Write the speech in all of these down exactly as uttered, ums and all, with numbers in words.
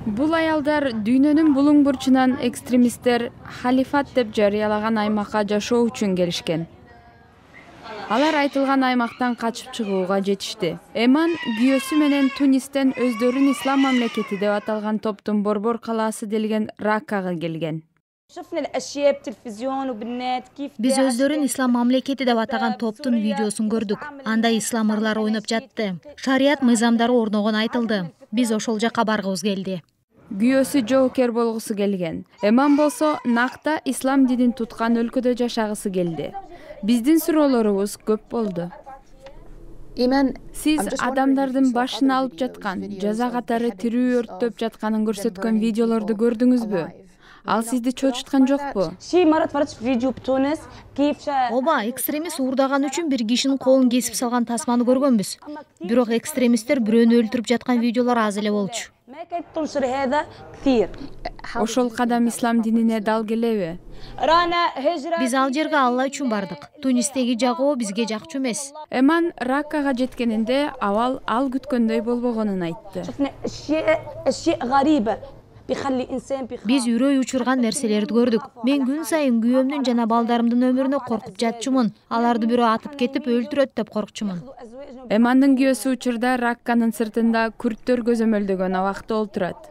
Бул аялдар дүйнөнүн булуң бурчунан экстремисттер халифат деп жарыялаган аймакка жашоо үчүн келишкен. Алар айтылган аймактан качып чыгууга жетишти. Эман күйөөсү менен Тунистен өздөрүн ислам мамлекети деп аталган топтун борбор калаасы делген Раккага келген. Биз өздөрүн ислам мамлекети деп атаган топтун видеосун көрдүк. Анда ислам ырлары ойноп жатты. Шарият мыйзамдары орногон айтылды. Биз ошол жака баргыбыз келди. Күйөөсү жоокер болгусу келген. Эман болсо накта ислам динин туткан өлкөдө жашагысы келди. Биздин суроолорубуз көп болду. Сиз адамдардын башын алып жаткан, жаза катары тирүү өрттөп жатканын көрсөткөн видеолорду көрдүңүзбү? Ал сизди чочуткан жокпу? Ооба, экстремист уурдаган үчүн бир кишинин колун кесип салган тасманы көргөнбүз. Бирок экстремисттер бирөөнү өлтүрүп жаткан видеолор аз эле болчу. Ошол кадам ислам динине дал келеби? Биз ал жерге Алла үчүн бардык. Тунистеги жагоо бизге жакчу эмес. Эман Раккага жеткенинде абал ал күткөндөй болбогонун айтты. Биз үрөй учурган нерселерди көрдүк. Мен күн сайын күйөөмдүн жана балдарымдын өмүрүнө коркуп жатчумун. Аларды бирөө атып кетип өлтүрөт деп коркчумун. Эмандын күйөөсү учурда Ракканын сыртында күрттөр көзөмөлдөгөн абакта отурат.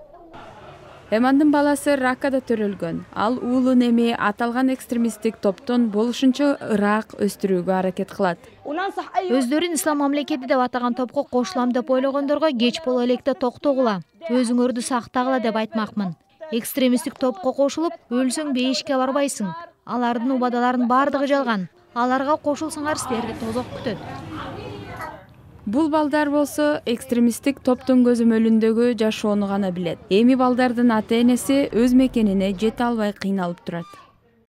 Эмандын баласы Раккада төрөлгөн. Ал уулун эми аталган экстремисттик топтон болушунча ыраак өстүрүүгө аракет кылат. Өздөрүн ислам мамлекети деп атаган топко кошулам деп ойлогондорго кеч боло электе токтогула, өзүңөрдү сактагыла деп айтмакмын. Экстремисттик топко кошулуп, өлсөң бейишке барбайсың. Алардын убадаларынын бардыгы жалган. Аларга кошулсаңар силерди тозок күтөт. Бул балдар болсо экстремисттик топтун көзөмөлүндөгү жашоону гана билет. Эми балдардын ата-энеси өз мекенине жете албай кыйналып турат.